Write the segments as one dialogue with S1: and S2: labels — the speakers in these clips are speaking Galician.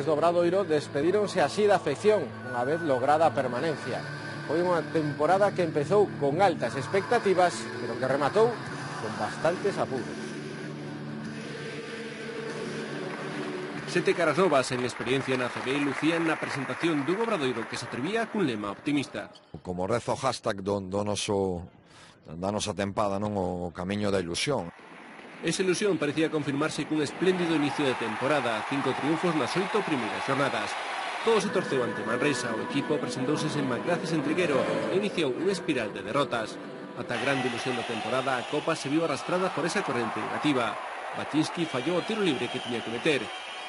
S1: do Obradoiro despedíronse así da afección, unha vez lograda a permanencia. Foi unha temporada que empezou con altas expectativas, pero que rematou con bastantes apuros.
S2: 7 caras novas en experiencia na CB lucían na presentación dun Obradoiro que se atrevía cun lema optimista.
S3: Como rezo o hashtag da nosa tempada, non, o camiño da ilusión.
S2: Esa ilusión parecía confirmarse cun espléndido inicio de temporada, 5 triunfos nas 8 primeiras xornadas. Todo se torceu ante Manresa, o equipo presentouse sen Macraces en Triguero e iniciou unha espiral de derrotas. Ata a grande ilusión da temporada, a Copa se viu arrastrada por esa corrente negativa. Baczynski fallou o tiro libre que tiña que meter.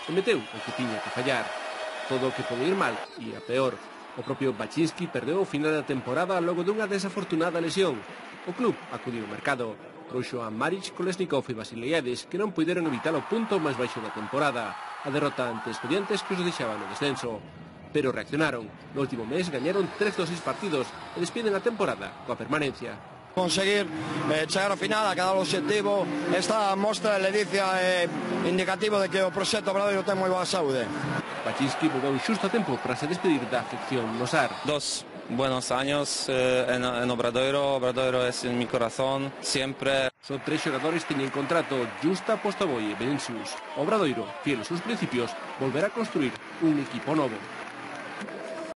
S2: E meteu o que tiña que fallar. Todo o que pode ir mal ia peor. O propio Baczynski perdeu o final da temporada logo dunha desafortunada lesión. O club acudiu ao mercado. Trouxo a Maric, Kolesnikov e Vasilievic, que non puideron evitar o punto máis baixo da temporada, a derrota ante Estudiantes que os deixaban no descenso. Pero reaccionaron. No último mes gañaron 3 dos 6 partidos e despiden a temporada coa permanencia.
S4: Conseguir chegar ao final, a cada objetivo, esta mostra de ledicia é indicativo de que o proxecto Obradoiro ten moi boa saúde.
S2: Baczynski volveu xusto a tempo para se despedir da afección no SAR.
S5: 2 buenos años en Obradoiro. Obradoiro es en mi corazón siempre.
S2: Son 3 xogadores que teñen contrato: Justa, Postavoy e Vinicius. Obradoiro, fiel aos seus principios, volverá a construir un equipo novo.